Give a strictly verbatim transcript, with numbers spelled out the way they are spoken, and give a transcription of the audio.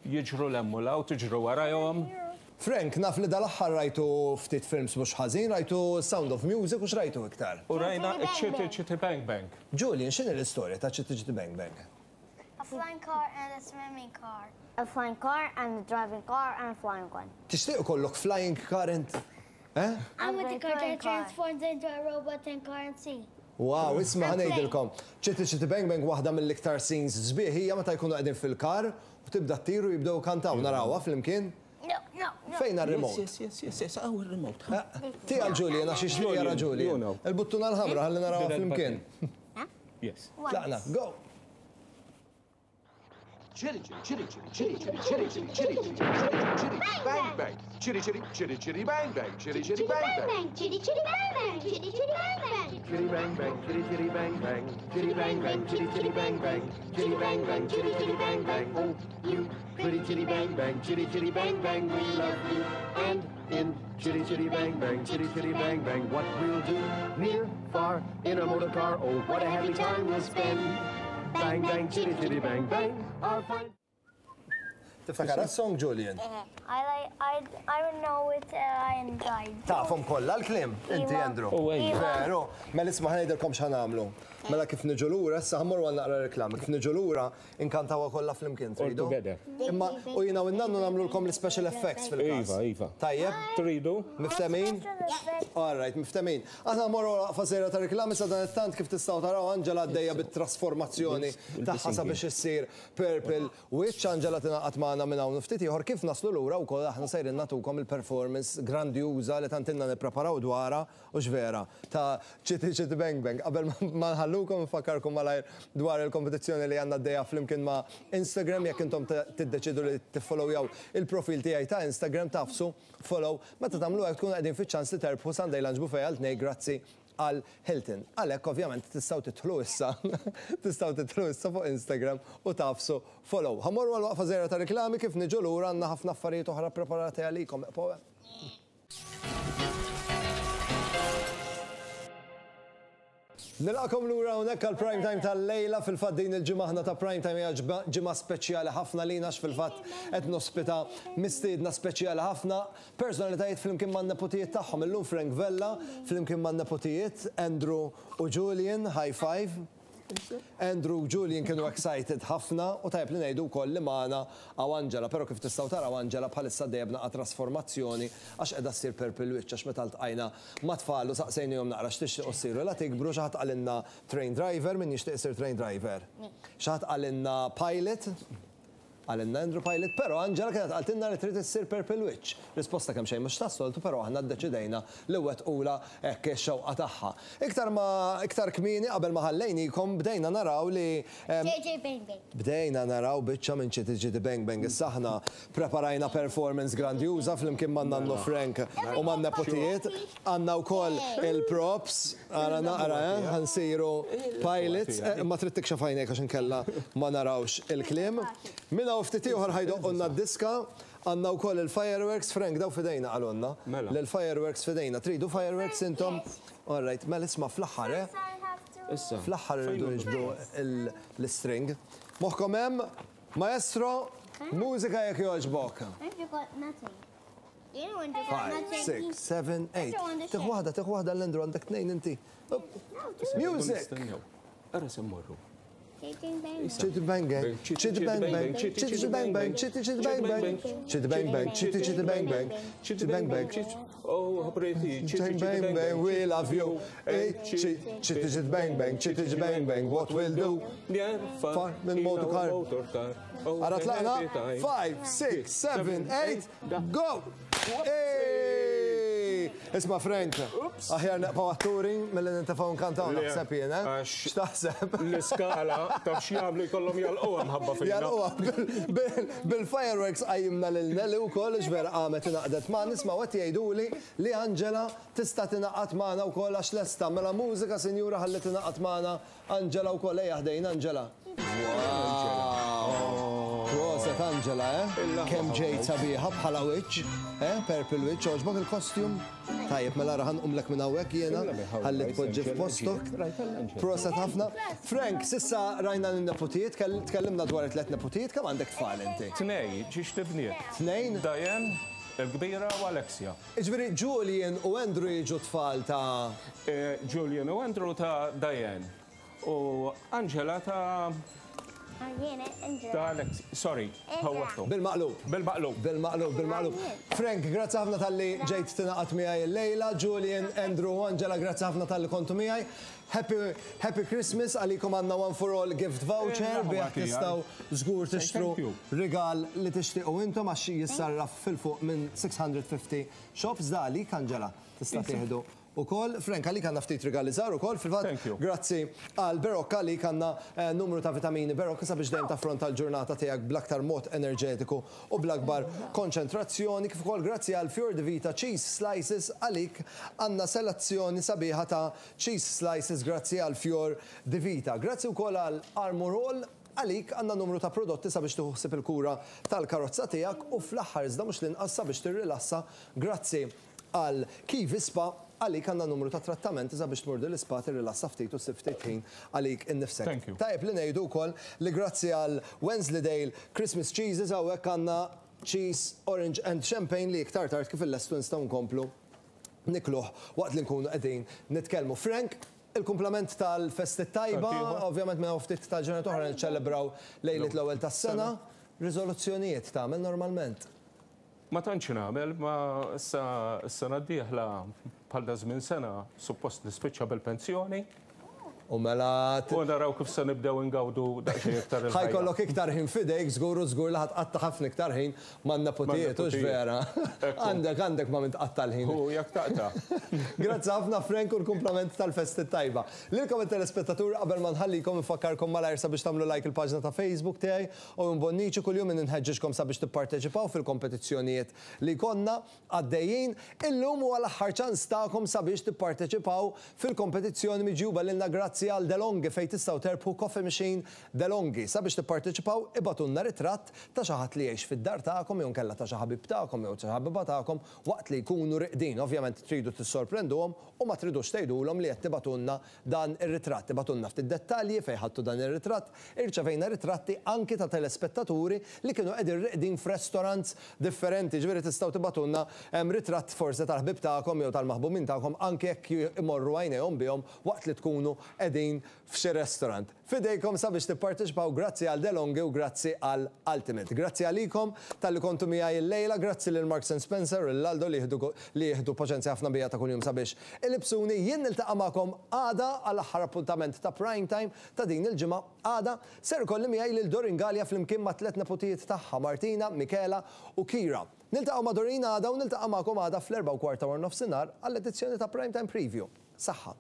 Jiġru 'l hemm u 'l hawn, tiġru warajhom. Frank, naf li dal-aħħar rajtu ftit films mhux ħażin, rajtu Sound of Music u x'rajtu iktar? U rajna Chitty Chitty Bang Bang. Julian, x'inhi l-istorja ta' Chitty Chitty Bang Bang? A flying car and a swimming car. A flying car and a driving car and a flying one. Tixtieq ikollok flying car int? Eh? I'm with the car flying that car. transforms into a robot and car and see. Wow, isma' ħa ngħidilkom. Chitty Chitty Bang Bang waħda mill-iktar scenes sbieħ hija meta jkunu qegħdin fil-kar u tibda ttiru jibdew kantaw narawha flimkien. No, no, no. Fejn remote Yes, yes, yes, yes, hawn il-remote. Ti għal Julian, għax ixtieq jara Julian, Julian. you know. Il-buttuna l-ħamra ħalli narawha flimkien. Yes. Tlaqna, go! Chitty chitty chitty chitty chitty chitty chitty chitty chitty chitty chitty bang bang chitty chitty chitty chitty bang bang chitty chitty bang bang Chitty chitty bang bang, chitty chitty bang bang. chitty bang bang chitty chitty bang bang chitty bang bang chitty chitty bang bang chitty bang bang chitty chitty bang bang oh you pretty chitty bang bang chitty chitty bang bang we love you and in chitty chitty bang bang chitty chitty bang bang what we'll do near far in a motor car oh what a happy time we'll spend bang bang chitty chitty bang bang our fine Tiftakar song Julian? I like I I don't know it uh, and I Tafhom kollha l-kliem, inti Iva. Andrew. U ejja. Veru, mela isma' ħa ngħidilkom x'ħa nagħmlu. Mela kif niġu lura, issa ħa mmorru għal naqra reklami, kif niġu lura inkantawha kollha flimkien All tridu. together. Imma u jiena u n-nannu nagħmlulkom l-special effects fil-każ. Iva, iva. Tajjeb? Tridu? Miftemin? All right, miftemin. Aħna mmorru waqfa żgħira ta' reklami sa dan it-tant kif tistgħu taraw Angela għaddejja bit-trasformazzjoni tagħha sabiex issir Purple Witch. Angela tingħaqad magħna minn hawn ftit ieħor kif naslu lura wkoll aħna sejrin nagħtukom il-performance grandjuża li tant ilna nippreparaw dwarha u x'vera ta' Chitty Chitty Bang Bang. Qabel ma nħallukom nfakkarkom malajr dwar il-kompetizzjoni li għandna għaddejja flimkien ma' Instagram jekk intom tiddeċidu li tiffollowjaw il-profil tiegħi ta' Instagram tagħfsu follow meta tagħmlu hekk tkunu qegħdin fiċ-ċans li terbħu Sunday Lunch Buffet għal tnejn grazzi għal Hilton. Għalhekk ovvjament tistgħu tidħlu issa, tistgħu tidħlu issa fuq Instagram u tagħfsu follow. Ħa mmorru għal waqfa żgħira ta' reklami kif niġu lura għandna ħafna affarijiet oħra preparati għalikom. Eqgħu hemm. Nilqagħkom lura hawnhekk għal prime time tal-lejla fil-fatt din il-ġimgħa aħna ta' prime time hija ġimgħa speċjali ħafna lina għax fil-fatt qed nospita mistiedna speċjali ħafna personalitajiet flimkien man-nepotijiet tagħhom. Illum Frank Vella flimkien man-nepotijiet Andrew u Julian, high five. Andrew u Julian kienu excited ħafna u tajb li ngħidu wkoll li magħna hawn Angela, però kif tistgħu taraw Angela bħalissa għaddejja b'naqra trasformazzjoni għax qiegħda ssir Purple Witch għax meta ltqajna ma' tfal u saqsejnihom naqra x'tixtiequ ssiru la tikbru xi ħadd qalilna train driver, min jixtieq isir train driver. Xi ħadd qalilna pilot, qalilna Andrew Pilot, però Angela kienet qaltilna li trid issir Purple Witch. Risposta kemm xejn mhux tas-soltu, però aħna ddeċidejna li wettqula hekk ix-xewqa tagħha. Iktar ma iktar kmieni qabel ma ħallejnikom bdejna naraw li em, J J Bang Bang. Bdejna naraw biċċa minn Chitty Chitty Bang Bang. Issa aħna preparajna performance grandjuża flimkien ma' nannu Frank u ma' nepotijiet. Għandna wkoll il-props, ara naqra, eh, ħa nsiru pilots, eh, ma trid tikxef għajnejk għax inkella ma narawx il-kliem. Minna u ftit ieħor ħa jdoqqulna d-diska, għandna wkoll il-fireworks, Frank, daw f'idejna qalulna. Mela. L-fireworks f'idejna. Tridu fireworks intom? All right, mela isma' fl-aħħar, eh? I have to. Issa. Fl-aħħar irridu niġbdu l-string. Moħħkom hemm, maestro, mużika jekk jogħġbok. You got nothing. You don't want to got Five, nothing. six, seven, eight. Tieħu waħda, tieħu waħda l-Andrew għandek tnejn inti. Up. Music. Nistennew. Ara se mmorru. Chitty Bang Bang. Chitty bang bang, chitty bang bang, chitty bang bang, chitty chitty bang bang, chitty bang bang, chitty chitty bang bang, chitty bang bang. Oh, pretty. Chitty bang bang, we love you. Hey, chitty chitty bang bang, chitty chitty bang bang, what we'll do? Far minn motor car. Motor car. Oh, Ara tlaqna, happy time. five, six, seven, eight, go! Hey! Isma' Frank, aħjar nibqgħu atturi milli nintefgħu nkantaw Le, naħseb jien, eh? għax- X'taħseb? L-iskala taf x'jagħmlu jkollhom jalquha mħabba fina. Jalquha bil-fireworks qajjimna lil Nelly wkoll vera qamet ingħaqdet ma' nisma' qed jgħiduli li Angela tista' tingħaqad magħna wkoll għax lesta mela mużika sinjura ħalli tingħaqad magħna Angela wkoll ejja ħdejn Angela. Wow! Proset Proset Angela, eh? Kemm ġejt sabiħa bħala witch, eh? Purple witch, għoġbok il-kostjum? Tajjeb, mela ra ħa nqumlek minn hawnhekk jiena, ħalli tpoġġi f'postok. Proset ħafna. Frank, s'issa rajna n-neputijiet, tkellimna dwar it-tlet neputijiet, kemm għandek tfal inti? Tnejn, żewġt ibniet. Tnejn? Diane, il-kbira u Alexia. Ġifieri, Julian u Andrew jiġu tfal ta' Eh, Julian u Andrew ta' Diane. U Angela ta' ta' Alexia. Sorry, ħawwadthom. Bil-maqlub. Bil-maqlub. Bil-maqlub, bil-maqlub. Frank, grazzi ħafna talli ġejt tingħaqad miegħi l-lejla. Julian, Andrew u Angela, grazzi ħafna talli kontu miegħi. Happy, Happy Christmas għalikom għandna One for All gift voucher Eh, bih tiegħi. tistgħu żgur tixtru Thank you. rigal li tixtiequ intom għax jissarraf fil-fuq minn sitt mija u ħamsin shops da għalik Angela tista' tieħdu ukoll. Frank, għalik għandna ftit rigali żgħar ukoll fil-fatt. Thank you. Grazzi għal Berocca li għandna eh, numru ta' vitamini Berocca sabiex dejjem taffronta l-ġurnata tiegħek bl-aktar mod enerġetiku u bl-akbar konċentrazzjoni. Kif ukoll grazzi għal Fior di Vita Cheese Slices, għalik għandna selezzjoni sabiħa ta' cheese slices grazzi għal Fior di Vita. Grazzi wkoll għal Armor All, għalik għandna numru ta' prodotti sabiex tuħsib il-kura tal-karozza tiegħek u fl-aħħar iżda mhux l-inqas sabiex tirrilassa grazzi għal Kiwi Spa, għalik għandna numru ta' trattamenti sabiex tmur l-ispa, tirrilassa ftit u ssib ftit ħin għalik innifsek. Thank you. Tajjeb li ngħidu wkoll li grazzi għal Wensleydale Christmas Cheeses, hawnhekk għandna cheese, orange and champagne li iktar tard kif il-lestu nistgħu nkomplu nikluh waqt li nkunu qegħdin nitkellmu. Frank, il-kumplament tal-festi tajba, Tantiħor. ovvjament minn ftit ta' ġranet oħra niċċelebraw lejlit l-ewwel tas-sena, riżoluzzjonijiet tagħmel normalment? Ma tantx nagħmel, ma issa s-sena d-dieħla bħal da żmien sena suppost nispiċċa bil-pensjoni. U mela U naraw kif se nibdew ingawdu daqsxejn iktar il-ħajja. Ħa jkollok iktar ħin fidejk, żgur u żgur li ħa tqatta' ħafna iktar ħin man-neputijiet, hux Man-neputijiet. vera? Ekku. Għandek għandek ma' min tqatta' l-ħin. U jekk taqta'. Grazzi ħafna, Frank, u l-kumplament tal-festi tajba. Lilkom it-telespettatur, qabel ma nħallikom infakkarkom malajr sabiex tagħmlu like il-paġna ta' Facebook tiegħi u Bonnici. Kuljum inħeġġiġkom sabiex tipparteċipaw fil-kompetizzjonijiet li konna għaddejjin. Illum huwa l-aħħar ċans tagħkom sabiex tipparteċipaw fil-kompetizzjoni miġjuba lilna grazzi għal DeLonghi, fejn tistgħu terbħu coffee machine DeLonghi. Sabiex tipparteċipaw, ibagħtulna ritratt ta' xi ħadd li jgħix fid-dar tagħkom jew nkella ta' xi ħabib tagħkom jew xi ħabiba tagħkom waqt li jkunu riqdin. Ovvjament tridu tissorprenduhom u ma tridux tgħidulhom li qed tibagħtulna dan ir-ritratt. Ibagħtulna ftit dettalji fejn ħadtu dan ir-ritratt. Irċevejna ritratti anki ta' telespettaturi li kienu qegħdin riqdin f'restaurants differenti. Ġifieri tistgħu tibagħtulna em, ritratt forsi tal-ħbib tagħkom jew tal-maħbumin tagħkom anke jekk imorru għajnejhom bihom waqt li tkunu qegħdin f'xi restaurant. Fidejkom sabiex tipparteċipaw grazzi għal DeLonghi u grazzi għal Ultimate. Grazzi għalikom talli kontu miegħi il-lejla, grazzi lil Marks and Spencer u l-Aldo li jieħdu li jieħdu paċenzja ħafna bija ta' kuljum sabiex ilibsuni. Jien niltaqa' magħkom għada għal aħħar appuntament ta' prime time ta' din il-ġimgħa. Għada ser ikolli miegħi lil Doreen Galea flimkien ma' tliet neputijiet tagħha, Martina, Michela u Kira. Niltaqgħu ma' Doreen għada u niltaqa' magħkom għada fl-erba' u kwarta wara nofsinhar għall-edizzjoni ta' Prime Time Preview. Saħħa.